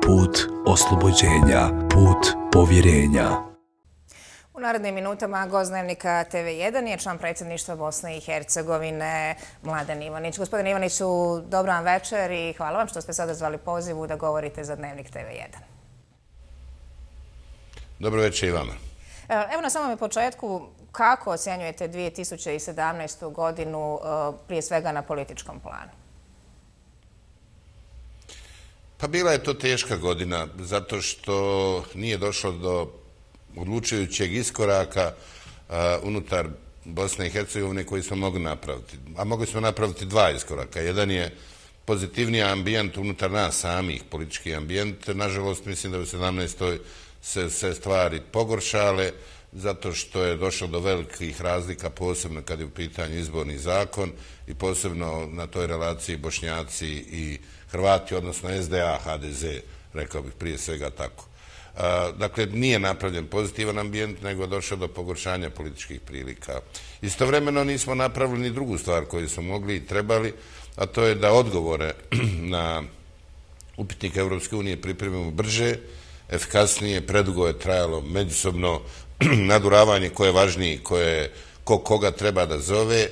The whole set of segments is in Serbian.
put oslobođenja, put povjerenja. U narednim minutama gost Dnevnika TV1 je član predsjedništva Bosne i Hercegovine Mladen Ivanić. Gospodine Ivaniću, dobro vam večer i hvala vam što ste sada zvali pozivu da govorite za Dnevnik TV1. Dobro večer i vama. Evo na samom početku, kako ocjenjujete 2017. godinu prije svega na političkom planu? Pa bila je to teška godina zato što nije došlo do odlučujućeg iskoraka unutar Bosne i Hercegovine koji smo mogli napraviti. A mogli smo napraviti dva iskoraka. Jedan je pozitivniji ambijent unutar nas samih, politički ambijent. Nažalost, mislim da u 17. se stvari pogoršale zato što je došlo do velikih razlika, posebno kad je u pitanju izborni zakon i posebno na toj relaciji Bošnjaci i Hrvati, odnosno SDA, HDZ, rekao bih prije svega tako. Dakle, nije napravljen pozitivan ambijent, nego je došlo do pogoršanja političkih prilika. Istovremeno nismo napravili ni drugu stvar koju smo mogli i trebali, a to je da odgovore na upitnik Europske unije pripremimo brže, efikasnije. Predugo je trajalo međusobno naduravanje ko je važniji, ko koga treba da zove.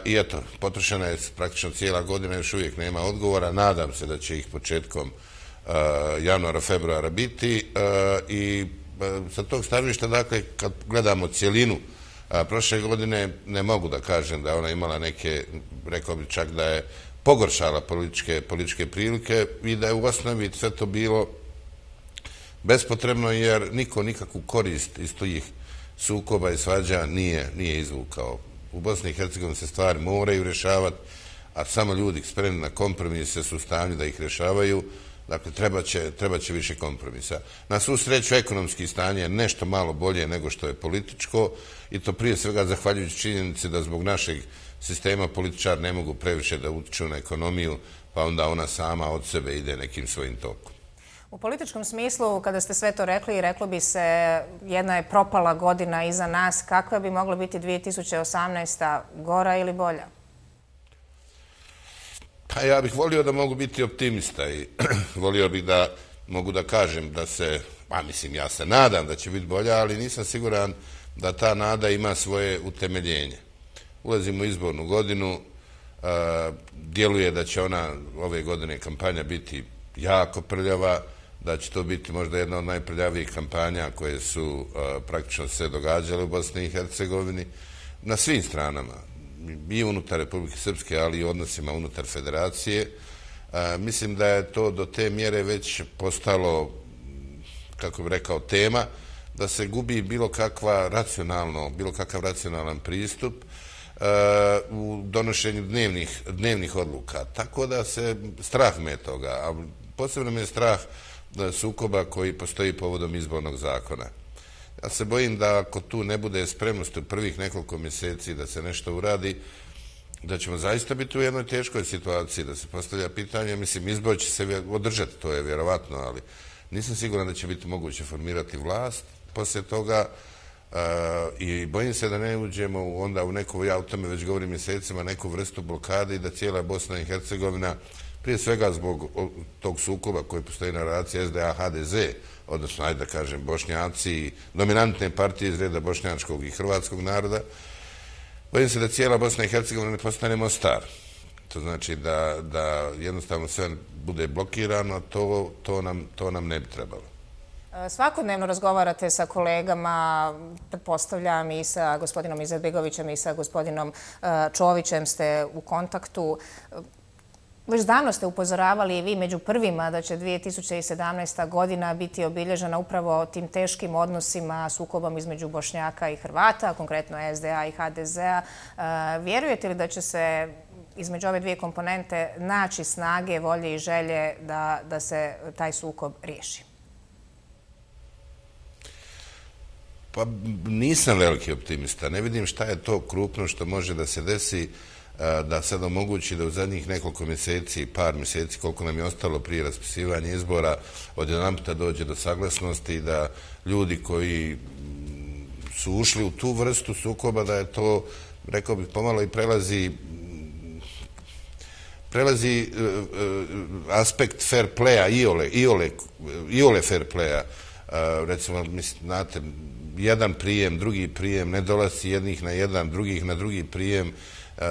I eto, potrošena je praktično cijela godina, još uvijek nema odgovora. Nadam se da će ih početkom januara, februara biti. I sa tog stavišta, dakle, kad gledamo cijelinu prošle godine, ne mogu da kažem da je ona imala neke, rekao bih čak da je pogoršala političke prilike i da je u osnovi sve to bilo bespotrebno jer niko nikakvu korist iz tih sukoba i svađa nije izvukao. U Bosni i Hercegovini se stvari moraju rješavati, a samo ljudi spremni na kompromise su u stanju da ih rješavaju. Dakle, treba će više kompromisa. Na svu sreću, ekonomski stanje je nešto malo bolje nego što je političko i to prije svega zahvaljujući činjenici da zbog našeg sistema političari ne mogu previše da utiču na ekonomiju, pa onda ona sama od sebe ide nekim svojim tokom. U političkom smislu, kada ste sve to rekli, reklo bi se jedna je propala godina iza nas. Kakva bi mogla biti 2018. gora ili bolja? Pa ja bih volio da mogu biti optimista i volio bih da mogu da kažem da se, pa mislim ja se nadam da će biti bolja, ali nisam siguran da ta nada ima svoje utemeljenje. Ulazimo u izbornu godinu, djeluje da će ona ove godine kampanja biti jako prljava, da će to biti možda jedna od najprljavijih kampanja koje su praktično se događale u Bosni i Hercegovini na svim stranama, i unutar Republike Srpske, ali i odnosima unutar federacije. Mislim da je to do te mjere već postalo, kako bih rekao, tema, da se gubi bilo kakav racionalan pristup u donošenju dnevnih odluka. Tako da se strah me toga, a posebno me je strah sukoba koji postoji povodom izbornog zakona. Ja se bojim da ako tu ne bude spremnosti u prvih nekoliko mjeseci da se nešto uradi, da ćemo zaista biti u jednoj teškoj situaciji, da se postavlja pitanje, mislim, izbor će se održati, to je vjerovatno, ali nisam siguran da će biti moguće formirati vlast poslije toga i bojim se da ne uđemo onda u neku, ja o tome već govorim mjesecima, neku vrstu blokade i da cijela Bosna i Hercegovina, prije svega zbog tog sukoba koji postoji na relaciji SDA-HDZ, odnosno, ajde da kažem, Bošnjaci i dominantne partije iz reda bošnjačkog i hrvatskog naroda, bojim se da cijela Bosna i Hercegovina ne postane Mostar. To znači da jednostavno sve bude blokirano, to nam ne bi trebalo. Svakodnevno razgovarate sa kolegama, pretpostavljam i sa gospodinom Izetbegovićem i sa gospodinom Čovićem ste u kontaktu. Već davno ste upozoravali i vi među prvima da će 2017. godina biti obilježena upravo tim teškim odnosima, sukobom između Bošnjaka i Hrvata, konkretno SDA i HDZ-a. Vjerujete li da će se između ove dvije komponente naći snage, volje i želje da se taj sukob riješi? Pa nisam veliki optimista. Ne vidim šta je to krupno što može da se desi da sad omogući da u zadnjih nekoliko mjeseci, par mjeseci, koliko nam je ostalo prije raspisivanja izbora, odjedanputa dođe do saglasnosti i da ljudi koji su ušli u tu vrstu sukoba, da je to, rekao bih, pomalo i prelazi aspekt fair playa, iole fair playa. Recimo, znate, jedan prijem, drugi prijem, nedolasci jednih na jedan, drugih na drugi prijem,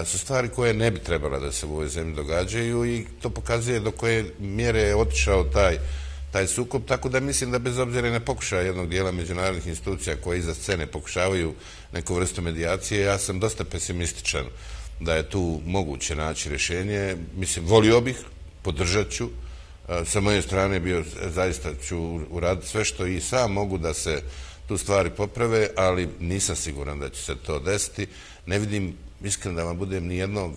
su stvari koje ne bi trebala da se u ovoj zemlji događaju i to pokazuje do koje mjere je otišao taj sukob, tako da mislim da bez obzira na pokušaja jednog dijela međunarodnih institucija koje iza scene pokušavaju neku vrstu medijacije, ja sam dosta pesimističan da je tu moguće naći rješenje. Mislim, volio bih, podržat ću, sa moje strane zaista ću uraditi sve što i sam mogu da se tu stvari poprave, ali nisam siguran da će se to desiti. Ne vidim, iskreno da vam budem, ni jednog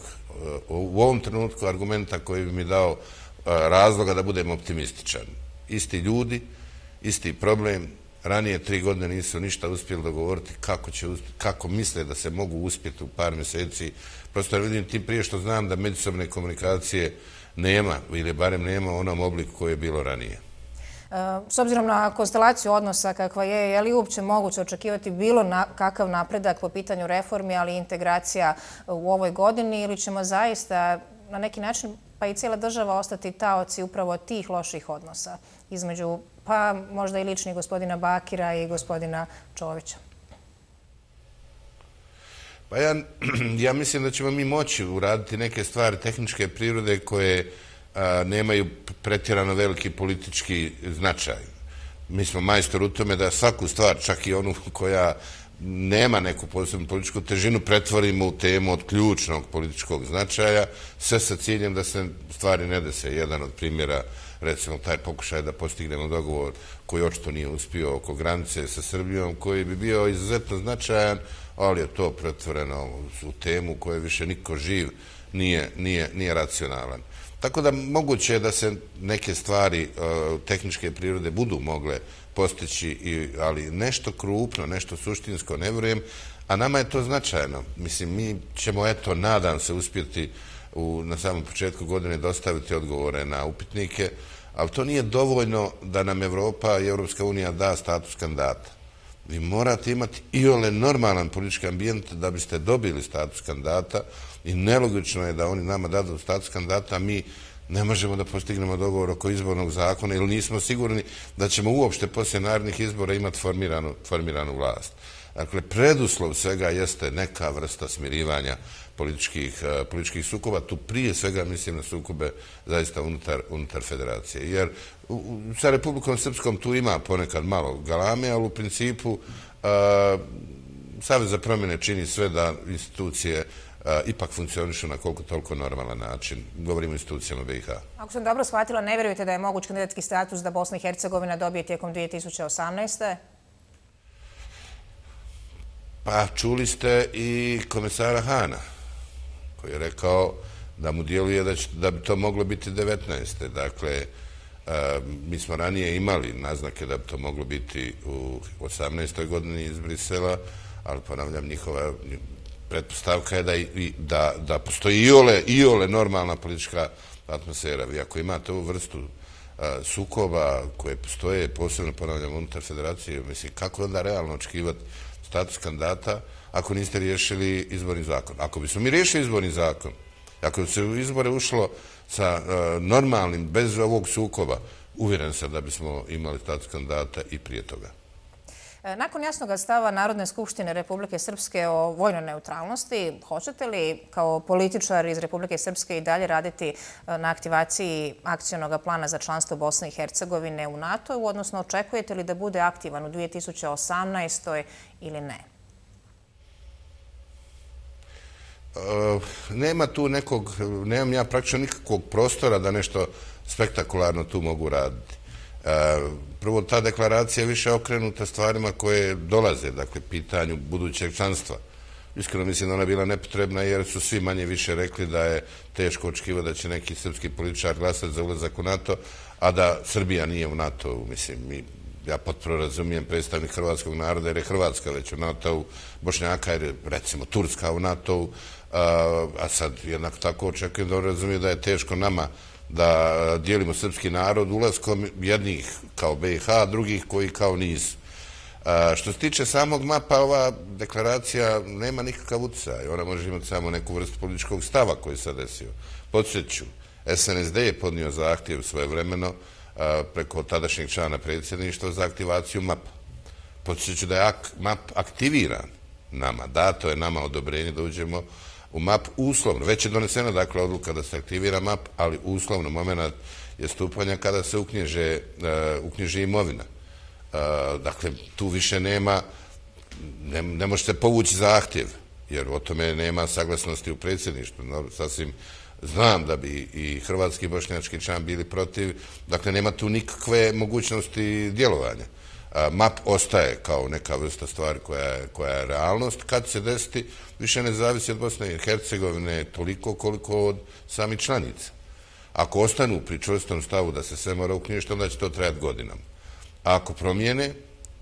u ovom trenutku argumenta koji bi mi dao razloga da budem optimističan. Isti ljudi, isti problem, ranije 3 godine nisu ništa uspjeli dogovoriti kako misle da se mogu uspjeti u par mjeseci. Prosto vidim tim prije što znam da međusobne komunikacije nema, ili barem nema u onom obliku koji je bilo ranije. S obzirom na konstelaciju odnosa kakva je li uopće moguće očekivati bilo kakav napredak po pitanju reformi, ali i integracija u ovoj godini, ili ćemo zaista na neki način, pa i cijela država, ostati taoci upravo tih loših odnosa između, pa možda i ličnih gospodina Bakira i gospodina Čovića? Pa ja mislim da ćemo mi moći uraditi neke stvari tehničke prirode koje nemaju pretjerano veliki politički značaj. Mi smo majstor u tome da svaku stvar, čak i onu koja nema neku posebnu političku težinu, pretvorimo u temu od ključnog političkog značaja, sve sa ciljem da se stvari ne dese. Jedan od primjera, recimo, taj pokušaj da postignemo dogovor koji očito nije uspio oko granice sa Srbijom, koji bi bio izuzetno značajan, ali je to pretvoreno u temu koje više niko živ nije racionalan. Tako da moguće je da se neke stvari tehničke prirode budu mogle postići, ali nešto krupno, nešto suštinsko ne vjerujem, a nama je to značajno. Mislim, mi ćemo, eto, nadam se, uspjeti na samom početku godine dostaviti odgovore na upitnike, ali to nije dovoljno da nam Evropa i Europska unija da status kandidata. Vi morate imati iole normalan politički ambijent da biste dobili status kandidata i nelogično je da oni nama dadu status kandidata, a mi ne možemo da postignemo dogovor oko izbornog zakona ili nismo sigurni da ćemo uopšte poslije narednih izbora imati formiranu vlast. Dakle, preduslov svega jeste neka vrsta smirivanja političkih sukoba. Tu prije svega mislim na sukobe zaista unutar federacije. Jer sa Republikom Srpskom tu ima ponekad malo galame, ali u principu Savez za promjene čini sve da institucije ipak funkcionišu na koliko toliko normalan način. Govorimo o institucijama BiH. Ako sam dobro shvatila, ne vjerujete da je moguć kandidatski status da Bosna i Hercegovina dobije tijekom 2018. Pa čuli ste i komesara Hana, koji je rekao da mu djeluje da bi to moglo biti 19. Dakle, mi smo ranije imali naznake da bi to moglo biti u 18. godini iz Brisela, ali ponavljam, njihova pretpostavka je da postoji iole normalna politička atmosfera. Vi ako imate ovu vrstu sukoba koje postoje, posebno ponavljam unutar federacije, mislim, kako je onda realno očekivati status kandidata ako niste riješili izborni zakon? Ako bismo mi riješili izborni zakon, ako bi se u izbore ušlo sa normalnim, bez ovog sukoba, uvjeren sam da bismo imali status kandidata i prije toga. Nakon jasnog stava Narodne skupštine Republike Srpske o vojnoj neutralnosti, hoćete li kao političar iz Republike Srpske i dalje raditi na aktivaciji akcionog plana za članstvo Bosne i Hercegovine u NATO, odnosno očekujete li da bude aktivan u 2018. ili ne? Nemam ja praktično nikakvog prostora da nešto spektakularno tu mogu raditi. Prvo, ta deklaracija je više okrenuta stvarima koje dolaze, dakle, pitanju budućeg članstva. Iskreno mislim da ona je bila nepotrebna jer su svi manje više rekli da je teško očekivati da će neki srpski političar glasati za ulazak u NATO, a da Srbija nije u NATO. Mislim, ja potpuno razumijem predstavnik hrvatskog naroda jer je Hrvatska već u NATO-u, Bošnjaka jer je, recimo, Turska u NATO-u, a sad jednako tako očekujem da on razumije da je teško nama da dijelimo srpski narod ulaskom jednih kao BiH, drugih koji kao nisu. Što se tiče samog mapa, ova deklaracija nema nikakav utjecaj. Ona može imati samo neku vrstu političkog stava koji se desio. Podsjeću, SNSD je podnio zahtjev svojevremeno preko tadašnjeg člana predsjedništva za aktivaciju MAP-a. Podsjeću da je MAP aktiviran nama, dato je nama odobrenje da uđemo u MAP uslovno. Već je donesena dakle odluka da se aktivira MAP, ali uslovno moment je stupanja kada se uknjiži imovina. Dakle, tu više nema, ne možete povući zahtjev, jer o tome nema saglasnosti u predsjedništvu. Sasvim znam da bi i hrvatski i bošnjački član bili protiv, dakle nema tu nikakve mogućnosti djelovanja. MAP ostaje kao neka vrsta stvari koja je realnost. Kad se desiti, više ne zavisi od Bosne i Hercegovine toliko koliko od samih članica. Ako ostanu pri čvrstom stavu da se sve mora uknjižiti, onda će to trajati godinama. A ako promijene,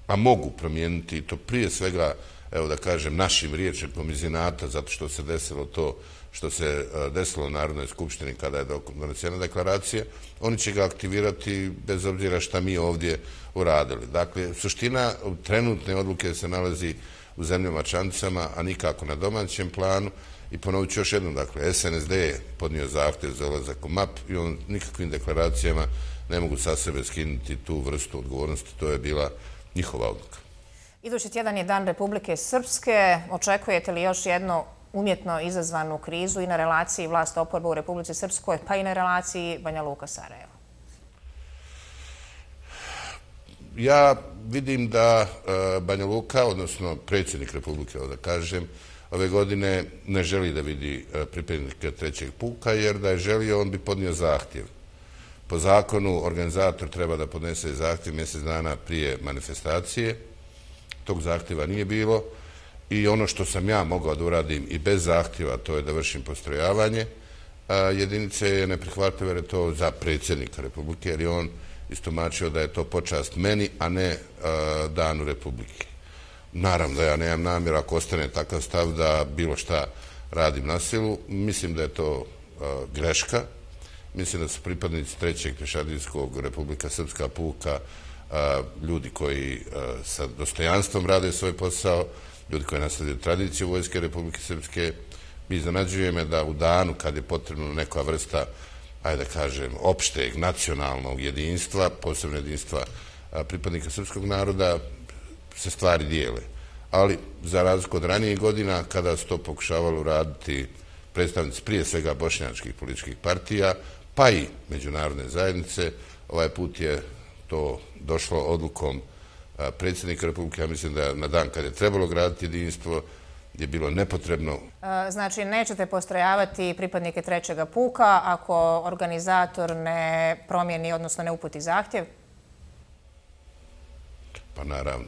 a mogu promijeniti to prije svega, evo da kažem, našim rječnikom iz inata, zato što se desilo to što se desilo u Narodnoj skupštini kada je donesena deklaracija, oni će ga aktivirati bez obzira šta mi ovdje uradili. Dakle, suština trenutne odluke se nalazi u zemljama članicama, a nikako na domaćem planu. I ponovit ću još jednom, dakle, SNSD je podnio zahtjev za ulazak u MAP i on nikakvim deklaracijama ne mogu sa sebe skinuti tu vrstu odgovornosti, to je bila njihova odluka. Idući tjedan je Dan Republike Srpske. Očekujete li još jednu umjetno izazvanu krizu i na relaciji vlast-oporba u Republici Srpskoj, pa i na relaciji Banja Luka-Sarajevo? Ja vidim da Banja Luka, odnosno predsjednik Republike, da kažem, ove godine ne želi da vidi pripadnike trećeg puka, jer da je želio, on bi podnio zahtjev. Po zakonu, organizator treba da podnese zahtjev mjesec dana prije manifestacije. Tog zahtjeva nije bilo i ono što sam ja mogao da uradim i bez zahtjeva, to je da vršim postrojavanje jedinice, je neprihvatljivo jer je to za predsjednika Republike, jer je on istomačio da je to počast meni, a ne Danu Republike. Naravno da ja nemam namjer, ako ostane takav stav, da bilo šta radim na silu. Mislim da je to greška. Mislim da su pripadnici trećeg pješadijskog Republika Srpska puka ljudi koji sa dostojanstvom rade svoj posao, ljudi koji nastavljaju tradiciju Vojske Republike Srpske. Iznenađuje me da u danu kad je potrebno neka vrsta, ajde da kažem, opšteg nacionalnog jedinstva, posebno jedinstva pripadnika srpskog naroda, se stvari dijele. Ali, za razliku od ranijih godina, kada su to pokušavali uraditi predstavnici prije svega bošnjačkih političkih partija, pa i međunarodne zajednice, ovaj put je to došlo odlukom predsjednika Republike. Ja mislim da na dan kad je trebalo graditi jedinstvo je bilo nepotrebno. Znači, nećete postrojavati pripadnike trećega puka ako organizator ne promijeni, odnosno ne uputi zahtjev? Pa naravno.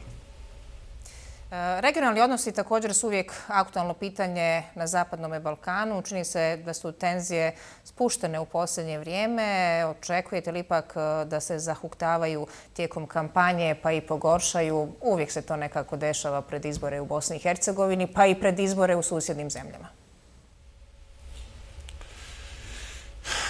Regionalni odnosi također su uvijek aktualno pitanje na Zapadnom Balkanu. Čini se da su tenzije spuštene u posljednje vrijeme. Očekujete li ipak da se zahuktavaju tijekom kampanje pa i pogoršaju? Uvijek se to nekako dešava pred izbore u Bosni i Hercegovini pa i pred izbore u susjednim zemljama.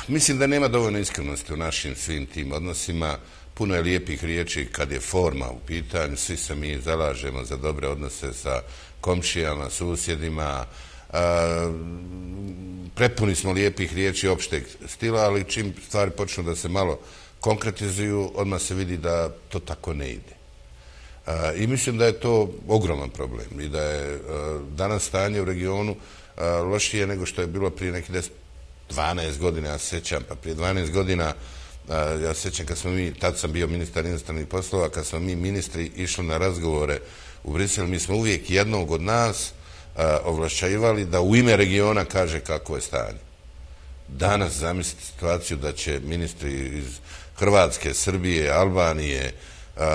Mislim da nema dovoljno iskrenosti u našim svim tim odnosima. Puno je lijepih riječi kad je forma u pitanju, svi se mi zalažemo za dobre odnose sa komšijama, susjedima, prepuni smo lijepih riječi opšteg stila, ali čim stvari počnu da se malo konkretizuju, odmah se vidi da to tako ne ide. I mislim da je to ogroman problem i da je danas stanje u regionu lošije nego što je bilo prije nekih 12 godina, ja se sjećam, pa prije 12 godina ja se sjećam kad smo mi, tad sam bio ministar inostranih poslova, kad smo mi ministri išli na razgovore u Brisel, mi smo uvijek jednog od nas ovlašćivali da u ime regiona kaže kako je stanje. Danas zamislite situaciju da će ministri iz Hrvatske, Srbije, Albanije,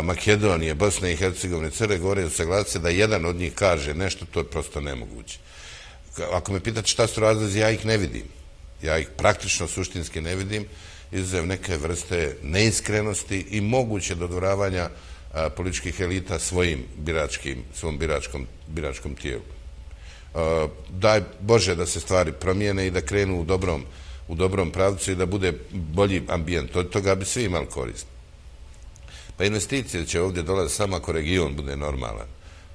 Makedonije, Bosne i Hercegovine, Crne Gore usaglasiti da jedan od njih kaže nešto, to je prosto nemoguće. Ako me pitate šta su razlozi, ja ih ne vidim. Ja ih praktično suštinski ne vidim, izuzev neke vrste neiskrenosti i moguće dodvoravanja političkih elita svom biračkom tijelu. Daj Bože da se stvari promijene i da krenu u dobrom pravcu i da bude bolji ambijent. Od toga bi svi imali korist. Pa investicije će ovdje dolaziti samo ako region bude normalan.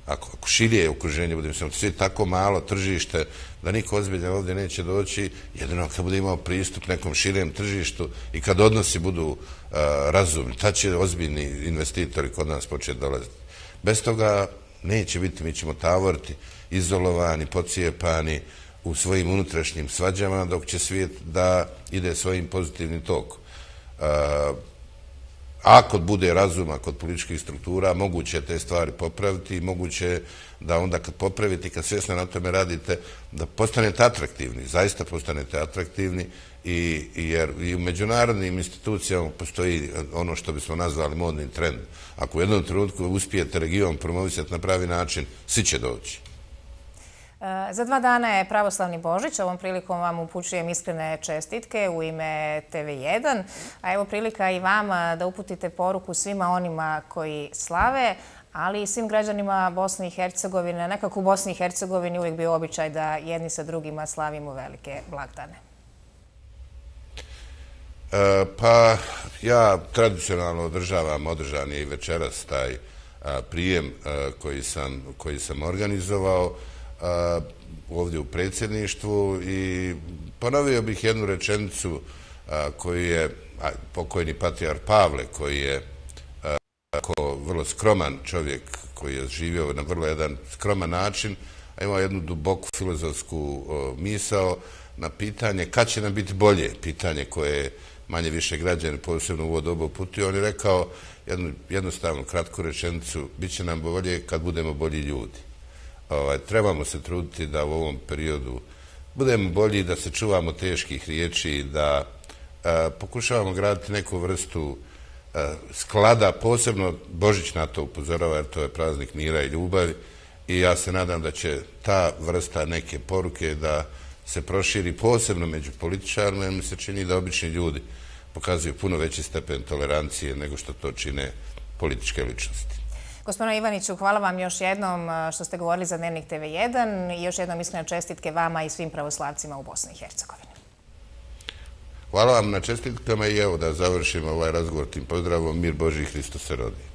ako širije okruženje bude, mislim, svi tako malo tržište da niko ozbiljan ovdje neće doći, jedino kad bude imao pristup nekom širijem tržištu i kad odnosi budu razumni, tad će ozbiljni investitori kod nas početi dolaziti. Bez toga neće biti, mi ćemo tavoriti, izolovani, pocijepani u svojim unutrašnjim svađama, dok će svijet da ide svojim pozitivnim tokom. Ako bude razuma kod političkih struktura, moguće je te stvari popraviti i moguće je da onda kad popravite i kad svjesno na tome radite, da postanete atraktivni, zaista postanete atraktivni, jer i u međunarodnim institucijama postoji ono što bismo nazvali modni trend. Ako u jednom trenutku uspijete region promovisati na pravi način, svi će doći. Za 2 dana je Pravoslavni Božić. Ovom prilikom vam upućujem iskrene čestitke u ime TV1. A evo prilika i vama da uputite poruku svima onima koji slave, ali i svim građanima Bosne i Hercegovine. Nekako u Bosni i Hercegovini uvijek bio običaj da jedni sa drugima slavimo velike blagdane. Pa ja tradicionalno održan je i večeras taj prijem koji sam organizovao ovdje u predsjedništvu i ponovio bih jednu rečenicu koju je pokojni patrijarh Pavle, koji je vrlo skroman čovjek, koji je živio na vrlo jedan skroman način, a imao jednu duboku filozofsku misao na pitanje kad će nam biti bolje, pitanje koje manje više građani posebno u ovo dobu uputio. On je rekao jednu jednostavnu kratku rečenicu: bit će nam bolje kad budemo bolji ljudi. Trebamo se truditi da u ovom periodu budemo bolji, da se čuvamo teških riječi, da pokušavamo graditi neku vrstu sklada, posebno Božić na to upozorava jer to je praznik mira i ljubavi i ja se nadam da će ta vrsta neke poruke da se proširi posebno među političarima, jer mi se čini da obični ljudi pokazuju puno veći stepen tolerancije nego što to čine političke ličnosti. Gospodine Ivaniću, hvala vam još jednom što ste govorili za Dnevnik TV1 i još jednom iskrene čestitke vama i svim pravoslavcima u Bosni i Hercegovini. Hvala vam na čestitkama i evo da završimo ovaj razgovor tim pozdravom: mir Božji, Hristos se rodi.